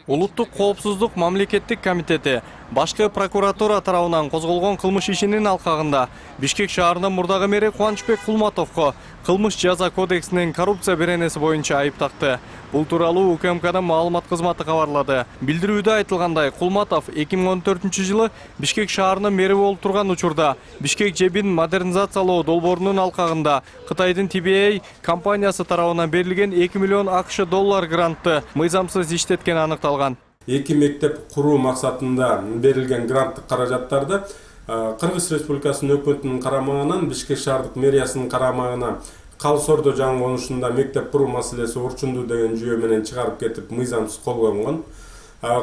Улуттук коопсуздук мамлекеттик комитети башкы прокуратура тарабынан козголгон кылмыш ишинин алкагында Бишкек шаарынын мурдагы мэри Кубанычбек Кулматовго кылмыш жаза кодексинин коррупция беренеси боюнча айып такты. Бул тууралуу УКМКнын маалымат кызматы кабарлады. Билдирүүдө айтылгандай, Кулматов 2014-жылы Бишкек шаарынын мэри болуп турган учурда Бишкек жебин модернизациялоо долбоорунун алкагында Кытайдын TBA компаниясы тарабынан берилген 2 миллион АКШ доллар грантты мыйзамсыз иштеткени аныкталган. Эки мектеп куруу максатында берилген гранттык каражаттарды Кыргыз Республикасынын өкмөтүнүн карамагынан Бишкек шаардык мэриясынын карамагына Калсордо жаңы конушунда мектеп куруу маселеси урчундуу деген жүйө менен чыгарып кетип мыйзамсыз колгонгон.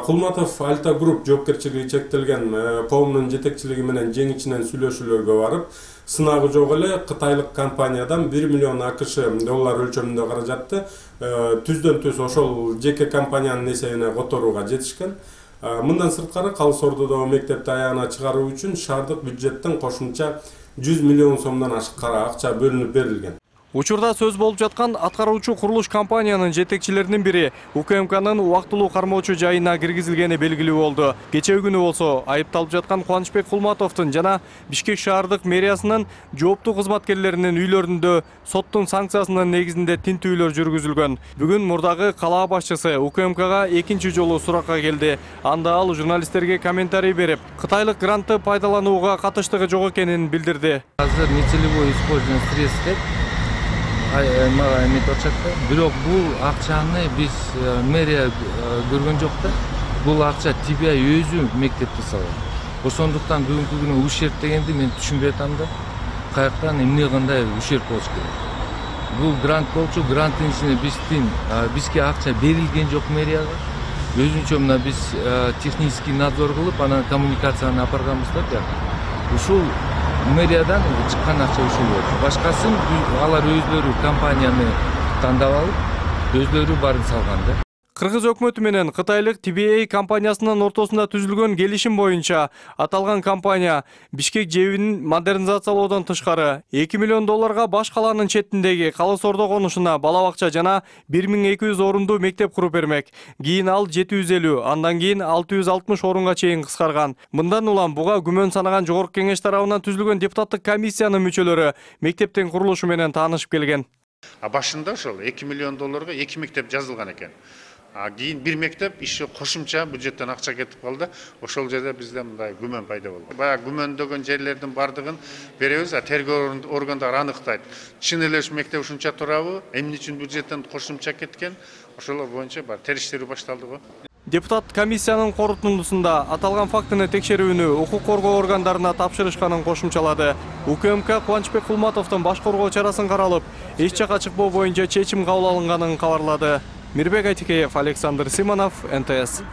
Кулматов Альта Групп жоопкерчилиги чектелген коомдун жетекчилиги менен жең ичинен сүйлөшүүлөргө барып, сынагы жок эле кытайлык компаниядан 1 миллион АКШ доллар өлчөмүндө каражатты түздөн түз ошол жеке компаниянын эсебине которууга жетишкен. Мындан сырткары Калсордодо мектепти аягына чыгаруу үчүн шаардык бюджеттен кошумча 100 миллион сомдон ашык акча бөлүнүп берилген. Учурда сөз болуп жаткан аткаруучу курулуш компаниянын жетекчилеринин бири УКМКнын убактылуу кармоочу жайына киргизилгени белгилүү болду. Кечээ күнү болсо айыпталып жаткан Кубанычбек Кулматовдун жана Бишкек шаардык мэриясынын жооптуу кызматкерлеринин үйлөрүндө соттун санкциясынын негизинде тинтүүлөр жүргүзүлгөн. Бүгүн мурдагы калаа башчысы УКМКга экинчи жолу суракка келди. Анда ал журналисттерге комментарий берип, кытайлык грантты пайдаланууга катыштыгы жок экенин билдирди. Азыр нечелебой использование средств бирок бул акчаны биз мэрия көргөн жок да. Бул акча TBA өзү мектепти салат. Ошондуктан бүгүнкү күнү ущерб дегенди мен түшүнбөй атам да. Каяктан эмне кандай ущерб болуш керек. Бул грант болчу, гранттын ичине бизге акча берилген жок мэрияга. Өзүнчө мына биз технический надзор кылып, анан коммуникацияны апарганбыз да. Ушул мэриядан чыккан акча ушул болчу. Башкасын алар өзлөрү компанияны тандап алып, өзлөрү барып салган да. Кыргыз өкмөтү менен кытайлык TBA компаниясынын ортосунда түзүлгөн келишим боюнча аталган компания Бишкек жебин модернизациялоодон тышкары 2 миллион долларга баш калаанын четиндеги Калсордо конушуна бала бакча жана 1200 орундуу мектеп куруп бермек. Кийин ал 750, андан кийин 660 орунга чейин кыскарган. Мындан улам буга күмөн санаган жогорку кеңеш тарабынан түзүлгөн депутаттык комиссиянын мүчөлөрү мектептин курулушу менен таанышып келген. Башында ошол 2 миллион долларга 2 мектеп жазылган экен. Кийин бир мектеп иши кошумча бюджеттен акча кетип калды. Ошол жерде бизде мындай күмөн пайда болду. Баягы күмөндөгөн жерлердин бардыгын беребиз, тергөө органдары аныктайт. Чын эле ушу мектеп ушунча турабы, эмне үчүн бюджеттен кошумча кеткен? Ошолор боюнча бар териштирүү башталды го. Депутат комиссиянын корутундусунда аталган фактыны текшерүүнү укук коргоо органдарына тапшырышканын кошумчалады. УКМК Кубанычбек Кулматовдун баш коргоо чарасын каралып, эч жака чыкпоо боюнча чечим кабыл алынганын кабарлады. Мирбек Айтикеев, Александр Симонов, НТС.